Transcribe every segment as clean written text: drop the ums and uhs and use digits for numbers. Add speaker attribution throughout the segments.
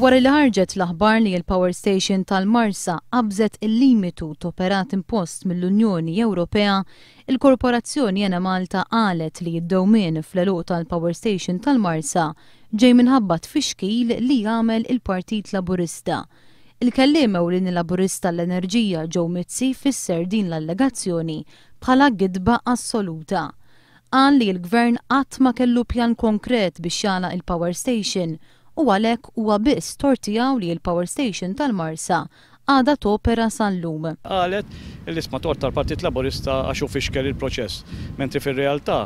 Speaker 1: Wara li ħarġet l-aħbar li l-power station tal-Marsa qabżet il-limitu t'operat impost mill-Unjoni Ewropea, il-Korporazzjoni Enemalta qalet li d-dewmien fl-għeluq tal-power station tal-Marsa ġej minħabba tfixkil li għamel il-Partit Laburista. Il-kelliem ewlieni Laburista għall-Enerġija Joe Mizzi fisser din l-allegazzjoni bħala gidba assoluta. Qal li l-Gvern qatt ma kellu pjan konkret biex jagħlaq il-power station u għalhekk huwa biss tort tiegħu li l-power station tal-Marsa għadha topera sal-lum.
Speaker 2: Qalet li isma' tort tal-Partit Laburista għax hu fixkel il-proċess, mentri fir-realtà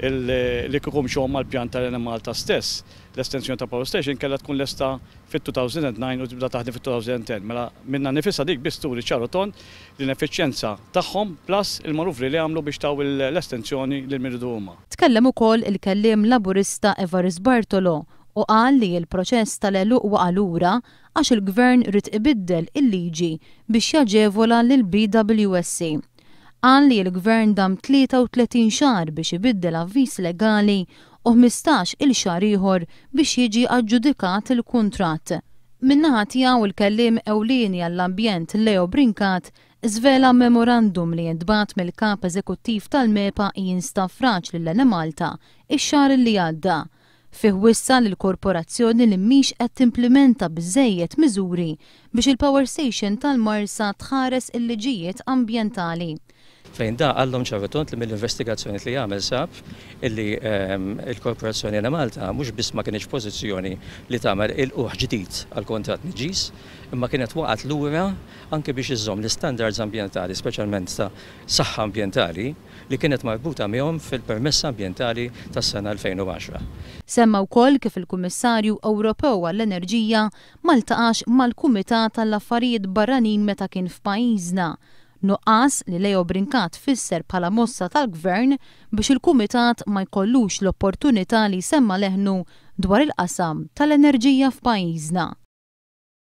Speaker 2: li kieku mxew mal-pjan tal-Enemalta stess, l-estensjoni tal-power station kellha tkun lesta fit-2009 u tibda taħdem fit-2010. Mela minnha nnifisha dik biss turi ċar u tond l-ineffiċjenza tagħhom plus il-manuvri li għamlu biex taw l-estensjoni lil min riedu huma.
Speaker 1: Tkellem ukoll il-kelliem Laburista Evarist Bartolo u qal li l-proċess tal-għeluq waqa' lura għax il-Gvern ried ibiddel il-liġi biex jaġevola lill-BWSC. Qal li l-Gvern dam 33 xahar biex ibiddel avviż legali u 15 il xahar ieħor biex jiġi aġġudikat il-kuntratt. Min-naħa tiegħu l-kelliem ewlieni għall-ambjent Leo Brincat żvela memorandum li ntbagħat mill-Kap Eżekuttiv tal-MEPA Ian Stafrace lill-Enemalta x-xahar li għadda. Fih wissa lill-korporazzjoni li mhix qed timplimenta biżżejjed miżuri biex il-power station tal-Marsa tħares il-liġijiet ambjentali.
Speaker 3: Fejn da qallhom ċar u tond li mill-investigazzjonijiet li għamel sab illi l-Korporazzjoni Enemalta mhux biss ma kinitx f'pożizzjoni li tagħmel ilqugħ ġdid għall-kuntratt niġġis, imma kienet waqgħet lura anke biex iżżomm l-istandards ambjentali, speċjalment ta' saħħa ambjentali, li kienet marbuta miegħhom fil-permess ambjentali tas-sena 2010.
Speaker 1: Semma wkoll kif il-Kummissarju Ewropew għall-Enerġija ma ltaqax mal-Kumitat għall-Affarijiet Barranin meta kien f'pajjiżna, nuqqas li Leo Brincat fisser bħala mossa tal-Gvern biex il-Kumitat ma jkollux l-opportunità li jsemma' leħnu dwar il-qasam tal-enerġija f'pajjiżna.